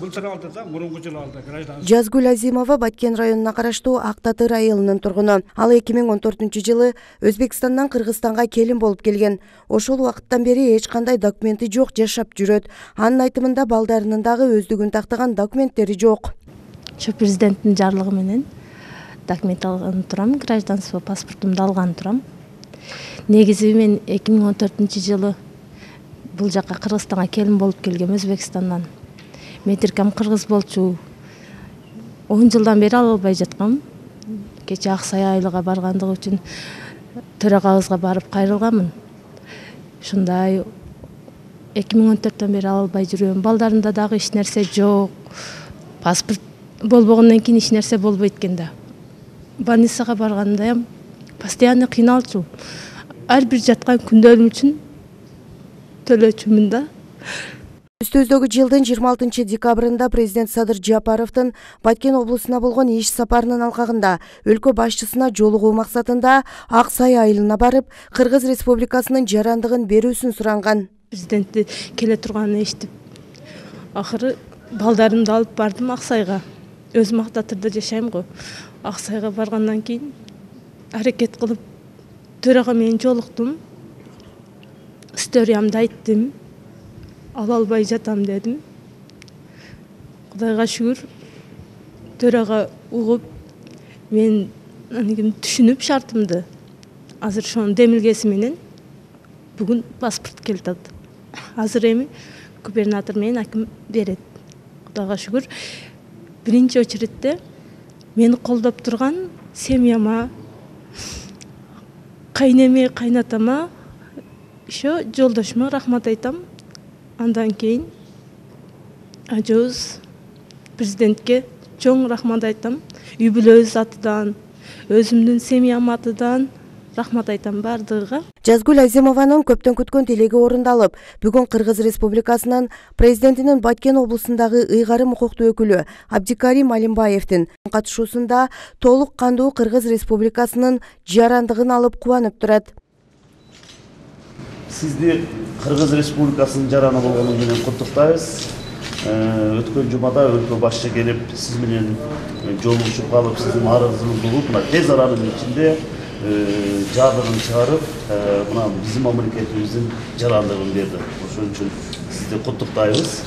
Былтыр алды да, мурунку жылы алды гражданство. Жазгүл Азимова Баткен районуна караштуу Ак Татыр айылынын тургуну. Ал 2014-жылы Өзбекстандан Кыргызстанга келин болуп келген. Ошол убакыттан бери эч кандай документи жок жашап жүрөт. Анын айтымында балдарынын дагы өздүгүн тактаган документтери жок. Ошо президенттин жарлыгы менен документ алган турам, гражданство паспортумду алган турам. Негизи мен 2014-жылы бул жака Кыргызстанга келин болуп келгем Өзбекстандан. Метиркам кыргыз болчу. 10 жылдан бери ала албай жаткам. Кече Аксай айылга баргандыгы үчүн төрагабызга барып кайрылганмын. Ушундай 2014төн бери ала албай жүрөм. Балдарымда дагы эч нерсе жок. Паспорт болбогондон кийин эч нерсе болбойт экен да. Больницага баргандайым постоянно кыйналчу. Ар бир жаткан күндөрүм үчүн төлөчүмүн да. Өстөздөгү жылдын 26 декабрында президент Садыр Жапаровдун Баткен облусуна болгон иш сапарынын алкагында өлкө башчысына жолугуу максатында Аксай айылына барып, Кыргыз Республикасынын жарандыгын берүүсүн суранган. Президентти келе турганын эшитип, акыры балдарымды алып бардым Аксайга. Өзүм Ак Татырда жашайм го. Аксайга баргандан кийин аракет кылып төрага менен жолуктум. Историямды айттым. Ала албай жатам дедим. Кудайга шүгүр, төрага угуп, мен түшүнүп шартымды. Азыр ошонун демилгеси менен бүгүн паспорт келди. Азыр эми губернатор менен аким берет. Кудайга шүгүр, биринчи очередде мени колдоп турган семьяма, кайнеме, кайнатама, ошо жолдошума рахмат айтам. Андан кийин ажоз президентке чоң рахмат айтам. Үй бүлөбүз атынан, өзүмдүн семьям атынан рахмат айтам бардыгыга. Жазгүл Азимованын көптөн күткөн тилеги орундалып, бүгүн Кыргыз Республикасынын президентинин Баткен облусундагы ыйгарым укуктуу өкүлү Абдикарим Алимбаевдин катышуусунда толук кандуу Кыргыз Республикасынын жарандыгын алып кубанып турат. Сизди Кыргыз Республикасынын жараны болгону менен куттуктайбыз. Өткөн жумада өлкө башчы келип, сиз менен жолугушуп калып, сиздин арызыңызды угуп, мына тез аранын ичинде жардыгын чыгарып, мына биздин мамлекетибиздин жарандыгын берди. Ошон үчүн сизди куттуктайбыз.